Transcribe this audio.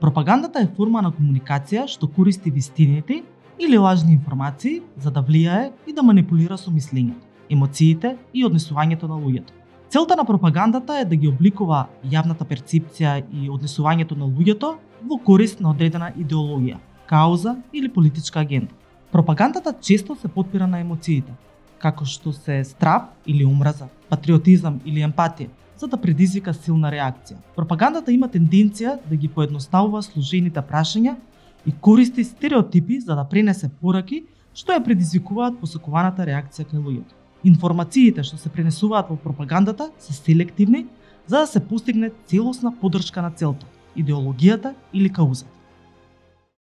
Пропагандата е форма на комуникација што користи вистините или лажни информации за да влијае и да манипулира со мислењето, емоциите и однесувањето на луѓето. Целта на пропагандата е да ги обликува јавната перцепција и однесувањето на луѓето во корист на одредена идеологија, кауза или политичка агенда. Пропагандата често се потпира на емоциите, како што се страв или омраза, патриотизам или емпатија, за да предизвика силна реакција. Пропагандата има тенденција да ги поедноставува сложените прашања и користи стереотипи за да пренесе пораки што ја предизвикуваат посакуваната реакција кај луѓето. Информациите што се пренесуваат во пропагандата се селективни за да се постигне целосна поддршка на целта, идеологијата или каузата.